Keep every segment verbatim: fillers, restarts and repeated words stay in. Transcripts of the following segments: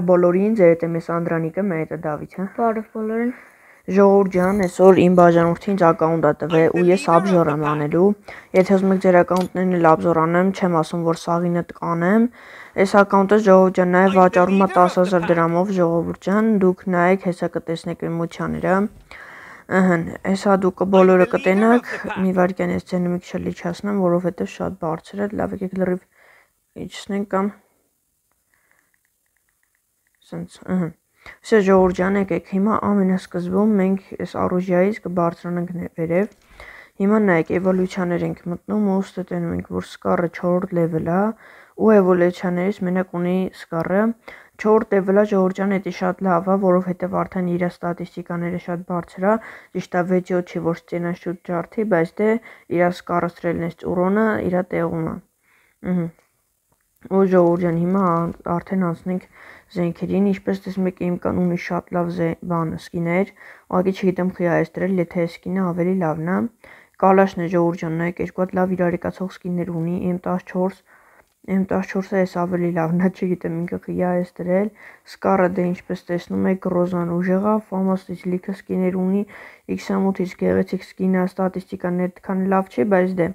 Բոլորին, ձեր հետ եմ ես Անդրանիկը, մեր հետ է Դավիթը։ Բարև բոլորին։ Ժողովուրդ ջան, այսօր իմ բաժանորդին ինձ ակաունտ է տվել ու ես աբժոր եմ անելու։ Եթե ուզում եք ձեր ակաունտներն էլ աբժոր անեմ, չեմ ասում, որ սաղինը կանեմ։ Այս ակաունտը ժողովուրդ ջան նաև վաճառում է տասը հազար դրամով, ժողովուրդ ջան, դուք նայեք, հեսա կտեսնեք էմոցիաները։ Ըհն, հեսա դուք բոլորը կտենաք, մի վարքյան ես ձենը մի քիչ լիչացնեմ, որովհետև շատ բարձր է, լավ եկեք լրիվ իջեցնենք կամ Սենց, ըհը։ Սա ժողովուրդ ջան, եկեք, հիմա ամենասկզբում մենք այս առուժյայից կբարձրանանք վերև։ Հիմա նայեք, էվոլյուցիաներ ենք մտնում ու ստետենում ենք, որ սկառը չորրորդ լևել է ու էվոլյուցիաներից մենակ ունի սկառը չորրորդ լևելը ժողովուրդ ջան, դա շատ լավ է, որովհետև արդեն իր ստատիստիկաները շատ բարձր է, ճիշտ է վեց յոթ չի, ոչ ծենա շուտ ջարդի, բայց դե իր սկառը ստրելն էս ուրոնը իր տեղում է։ Ըհը։ Ու ժողովուրդ ջան, հիմա արդեն անցնենք զենքերին, ինչպես տեսնում եք, իմ կան ունի շատ լավ բան սկիներ, ուղղակի չգիտեմ խի այս դրել, եթե այս սկինը ավելի լավն է։ Կալաշն է ժողովուրդ ջան, նայեք, երկու հատ լավ իրարեկացող սկիներ ունի, M տասնչորս, M տասնչորսը էս ավելի լավն է, չգիտեմ ինքը խի այս դրել, սկառը դե ինչպես տեսնում եք, ռոզան ուժեղ է, ֆամասից լիքը սկիներ ունի, X ութից գեղեցիկ սկինը, ստատիստիկաները այդքան լավ չի, բայց դե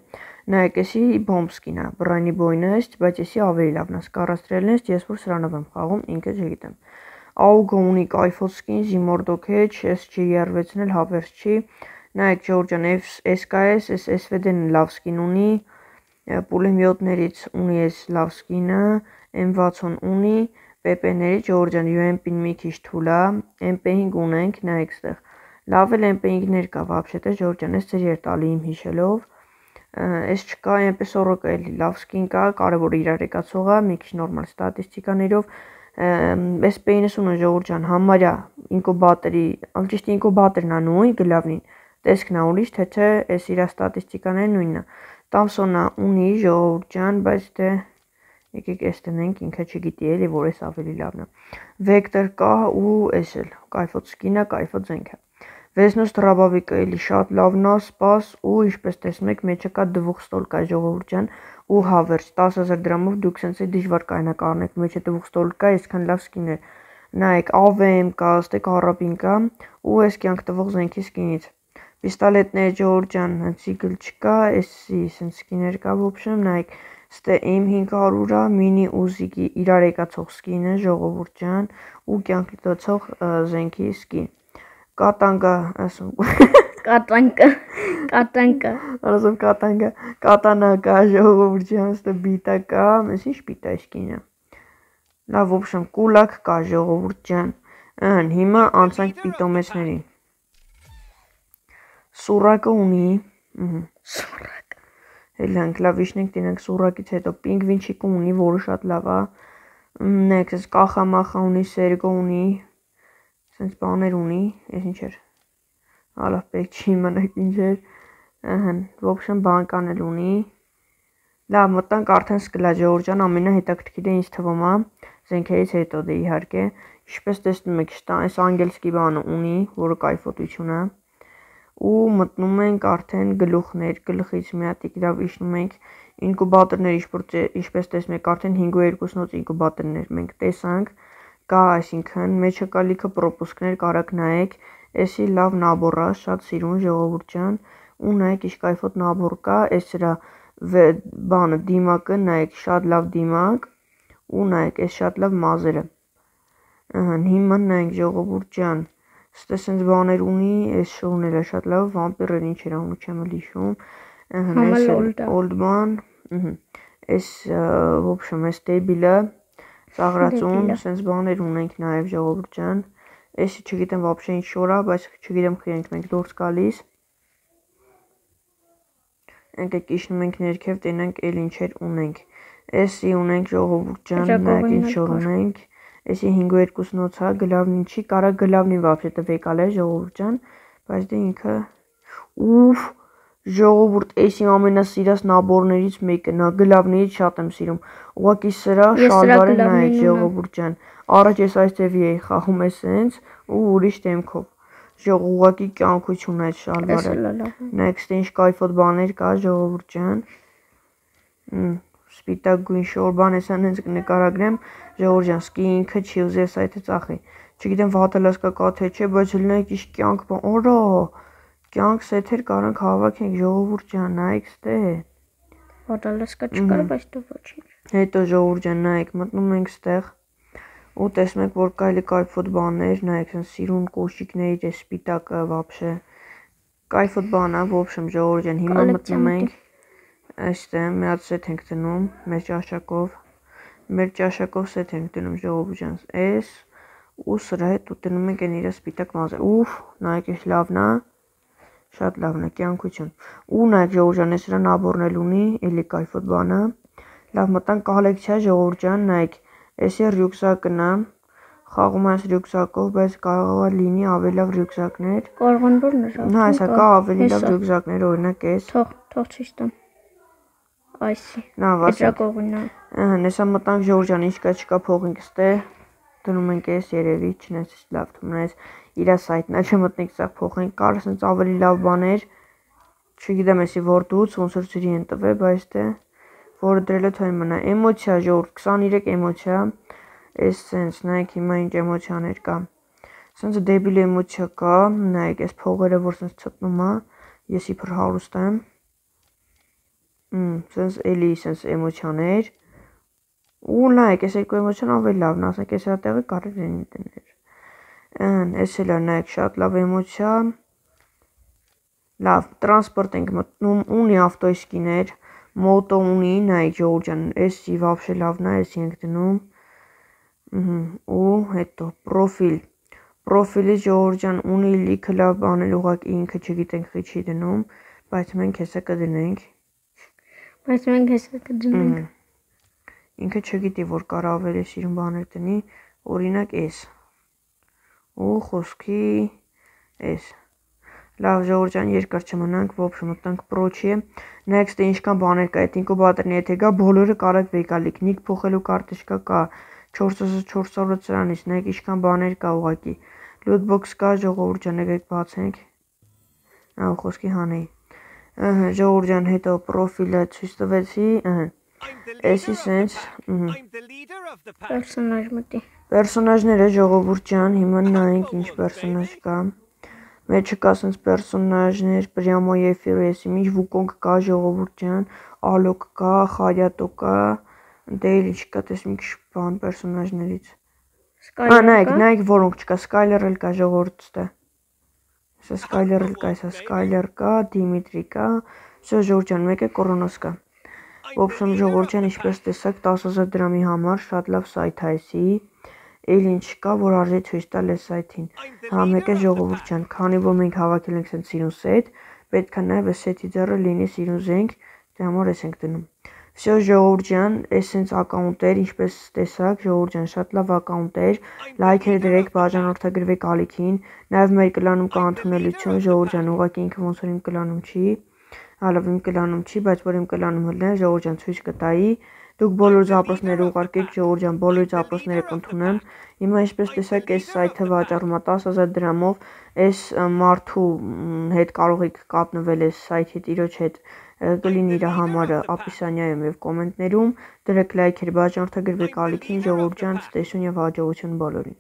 նայեք, էսի բոմբ սկին է, բռանի բոյնը էս, բայց էսի ավելի լավն է, սկառաստրելն էս, ես որ սրանով եմ խաղում, ինքը չգիտեմ։ Աուգը ունի կայֆոտ սկին, Zimordo Catch, էս չի երվեցն էլ հավերս չի։ Նայեք ժողովուրդ ջան, էս կա էս, էս S V D-ն լավ սկին ունի, պուլեմյոտներից ունի էս լավ սկինը, M վաթսուն ունի, P P-ներից ժողովուրդ ջան, U M P-ն մի քիչ թույլ է, M P հինգ ունենք, նայեք ստեղ։ Լավ էլ M P հինգներ կա, вообще-թե ժողովուրդ ջան, էս ձեր էր տալի իմ հիշելով։ Էս չկա, այնպես օրոք էլի լավ սկին կա, կարևոր իրարեկացող է, մի քիչ նորմալ ստատիստիկաներով։ Էս P իննսունը ժողովուրդ ջան, համարյա ինկուբատորի, ճիշտ ինկուբատորն է նույն, գլավնին։ Տեսքն է ուրիշ, թե չէ, էս իր ստատիստիկաները նույնն է։ Տամսոնը ունի ժողովուրդ ջան, բայց դե եկեք էս տնենք, ինքը չգիտի էլի, որ էս ավելի լավն է։ Vector կա ու էս էլ, կայֆոտ սկինը, կայֆոտ զենքը։ Վեսնոս դրաբավիկը էլի շատ լավն է, սպաս ու ինչպես տեսնում եք, մեջը կա դվող ստոլ կա ժողովուրդ ջան ու հավերս տասը հազար դրամով դուք սենց է դժվար կայնակ առնեք, մեջը դվող ստոլ կա, այսքան լավ սկին է։ Նայեք, A V M կա, ստե կարապին կա ու էս կյանք տվող զենքի սկինից։ Պիստոլետներ ժողովուրդ ջան, ցիկլ չկա, էսի սենց սկիներ կա, ոբշեմ, նայեք, ստե M հինգ հարյուր է, մինի ուզիկի իրարեկացող սկինը ժողովուրդ ջան ու կյանք տվող զենքի սկին։ Կատանգա, ասում Կատանկա, կատանկա։ Ասում կատանգա, կատանա կա ժողովուրդ ջան, ստե բիտա կա, ես ինչ բիտա է սկինը։ Լավ, ոբշեմ, կուլակ կա ժողովուրդ ջան։ Ըհն, հիմա անցանք պիտոմեսներին։ Սուրակը ունի, ըհը, Սուրակ։ Հելանք լավ իշնենք տինենք սուրակից հետո պինգվինչիկը ունի, որը շատ լավ է։ Նեք, սենց կախամախա ունի, սերգո ունի, սենց բաներ ունի, ես ինչ էր։ Հալավ պետք չի իմանաք ինչ էր։ Ըհն, ոբշեմ բանկան էլ ունի։ Լավ, մտանք արդեն սկլա ժողովուրդ ջան, ամենահետաքրքիրը ինձ թվում է, զենքերից հետո դե իհարկե, ինչպես տեսնում եք, այս անգելսկի բանը ունի, որը կայֆոտություն է։ Ու մտնում ենք արդեն գլուխներ, գլխից մի հատ լավ իշնում ենք ինկուբատորներ, ինչպես տեսնում եք, արդեն հինգ ու երկուսնոց ինկուբատորներ մենք տեսանք, կա, այսինքն, մեջը կա լիքը պրոպուսկներ, կարաք նայեք, էսի լավ նաբոր է, շատ սիրուն ժողովուրդ ջան, ու նայեք ինչ կայֆոտ նաբոր կա, էս սրա բանը դիմակը, նայեք, շատ լավ դիմակ, ու նայեք, էս շատ լավ մազերը։ Ըհն, հիմա նայենք ժողովուրդ ջան, ստե սենց բաներ ունի, էս շոուն էլ է շատ լավ, վամպիրեր ինչ էր անում, չեմ էլ հիշում։ Ըհն, էս օլդման, ըհը, էս ոբշեմ, էս տեբիլը, ծաղրածուն, սենց բաներ ունենք նաև ժողովուրդ ջան։ Էսի չգիտեմ вообще ինչ շոր է, բայց չգիտեմ խի ենք մենք դուրս գալիս։ Եկեք իշնում ենք ներքև, տենանք էլ ինչեր ունենք։ Էսի ունենք ժողովուրդ ջան, նայեք ինչ շոր ունենք։ Էսի հինգ ու երկուսնոց է, գլավնին չի, կարա գլավնին вообще տվեկալ է ժողովուրդ ջան, բայց դե ինքը ուֆ, ժողովուրդ, էս իմ ամենասիրած նաբորներից մեկն է, գլավներից շատ եմ սիրում։ Ուղղակի սրա շալվարը նայեք ժողովուրդ ջան։ Առաջ ես այս ձևի էի խաղում էս սենց ու ուրիշ դեմքով։ Ժող ուղղակի կյանքություն է այդ շալվարը։ Նայեք, ստե ինչ կայֆոտ բաներ կա ժողովուրդ ջան։ սպիտակ գույն շոր բան էսան հենց կնկարագրեմ, ժողովուրդ ջան, սկի ինքը չի ուզի այս այդը ծախի։ Չգիտեմ վատը լասկա կա թե չէ, բայց լնեք իշ կյանք բան, օրա, կյանք սեթեր կարանք հավաքենք, ժողովուրդ ջան, նայեք ստե։ Վատը լասկա չկար, բայց դու ոչինչ։ Հետո ժողովուրդ ջան, նայեք, մտնում ենք ստեղ ու տեսնում եք, որ կայլի կայֆոտ բաններ, նայեք, սենց սիրուն կոշիկներ, է սպիտակը վաբշե։ Կայֆոտ բան է, в общем, ժողովուրդ ջան, հիմա մտնում ենք այստեղ մի հատ սեթ ենք դնում մեր ճաշակով, մեր ճաշակով սեթ ենք դնում ժողովուրդ ջան, էս ու սրա հետ ու դնում ենք այն իր սպիտակ մազը։ Ուֆ, նայեք, էս լավն է, շատ լավն է, կյանքություն։ Ու նայեք ժողովուրդ ջան, էս սրան աբորնել ունի, էլի կայֆոտ բանը։ Լավ մտանք կոլեկցիա ժողովուրդ ջան, նայեք, էսի ռյուքսակն է, խաղում այս ռյուքսակով, բայց կարող է լինի ավելի լավ ռյուքսակներ։ Կարող են որ նշած։ Նա այսա կա ավելի լավ ռյուքսակներ, օրինակ էս։ Թող, թող ցույց տամ։ Այսի։ Նա վասա։ Կողինա։ Ահա, նեսա մտանք ժողովուրդ ջան, ինչ կա չկա փողինք ստե։ Դնում ենք էս երևի, չնայած լավ թվում է, իր սայթն է, չմտնենք սա փողենք, կար ասենց ավելի լավ բաներ։ Չգիտեմ էսի որտուց, ոնց որ ծրի են տվել, բայց դե որը դրել է թույն մնա։ Էմոցիա ժողովուրդ, քսաներեք էմոցիա։ Էս սենց, նայեք հիմա ինչ էմոցիաներ կա։ Սենց դեբիլ էմոցիա կա, նայեք էս փողերը, որ սենց ցտնում է, ես իբր հարուստ եմ։ Մ, սենց էլի սենց էմոցիաներ։ Ու նայեք, էս երկու էմոցիան ավելի լավն է, ասենք էս հատեղը կարելի է դնել։ Ան, էս էլ է, նայեք, շատ լավ էմոցիա։ Լավ, տրանսպորտ ենք մտնում, ունի ավտոիսկիներ, մոտո ունի, նայեք ժողովուրդ ջան, էսի վաբշե լավն է, էսի ենք դնում։ Ու հետո պրոֆիլ։ Պրոֆիլի ժողովուրդ ջան ունի լիքը լավ բաներ, ուղղակի ինքը չգիտենք խի չի դնում, բայց մենք հեսա կդնենք։ Բայց մենք հեսա կդնենք։ Ինքը չգիտի, որ կարա ավելի սիրուն բաներ դնի, օրինակ էս։ Ու խոսքի էս։ Լավ ժողովուրդ ջան, երկար չմնանք, в общем, մտանք պրոչի։ Նայեք ստե ինչքան բաներ կա, այդ ինկուբատորն եթե գա, բոլորը կարաք վեկալիք, նիկ փոխելու կարտեշկա կա, չորս հազար չորս հարյուր սրանից, նայեք ինչքան բաներ կա ուղղակի։ Lootbox կա, ժողովուրդ ջան, եկեք բացենք։ Ահա խոսքի հանեի։ Ահա ժողովուրդ ջան, հետո պրոֆիլը ցույց տվեցի, ահա։ Էսի սենց, Պերսոնաժ մտի։ Պերսոնաժները ժողովուրդ ջան, հիմա նայենք ինչ պերսոնաժ կա։ Մեջը կա սենց պերսոնաժներ, պրյամո եֆիրո էսի, ինչ վուկոնգ կա ժողովուրդ ջան, ալոկ կա, խարյատո կա, դե էլ ինչ կա, տեսնում ինչ բան պերսոնաժներից։ Ա, նայեք, նայեք որոնք չկա, Skyler էլ կա ժողովուրդ ստե։ Սա Skyler էլ կա, սա Skyler կա, Դիմիտրի կա, սա ժողովուրդ ջան, մեկը կորոնոս կա։ В общем, ժողովուրդ ջան, ինչպես տեսակ, տասը հազար դրամի համար շատ լավ սայթ է էսի։ Էլ ինչ կա, որ արժի ցույց տալ այս սայթին։ Հա մեկը ժողովուրդ ջան, քանի որ մենք հավաքել ենք սենց սիրուն սեթ, պետք է նաև այս սեթի ձեռը լինի սիրուն զենք, դե համար էս ենք դնում։ Всё ժողովուրդ ջան, էս սենց ակաունտեր, ինչպես տեսակ, ժողովուրդ ջան, շատ լավ ակաունտեր, լայքեր դրեք, բաժանորդագրվեք ալիքին, նաև մեր կլանում կա ընդունելություն, ժողովուրդ ջան, ուղղակի ինքը ոնց որ իմ կլանում չի, հալով իմ կլանում չի, բայց որ իմ կլանում հլներ, ժողովուրդ ջան, ցույց կտայի։ Դուք բոլոր զապրոցները ուղարկեք, ժողովուրդ ջան, բոլոր զապրոցները կընդունեմ։ Հիմա ինչպես տեսակ, այս սայթը վաճառում է տասը հազար դրամով, այս մարդու հետ կարող եք կապնվել այս սայթի տիրոջ հետ, կլինի իր համարը ապիսանիայում եւ կոմենտներում, դրեք լայքեր, բաժանորդագրվեք ալիքին, ժողովուրդ ջան, ցտեսություն եւ հաջողություն բոլորին։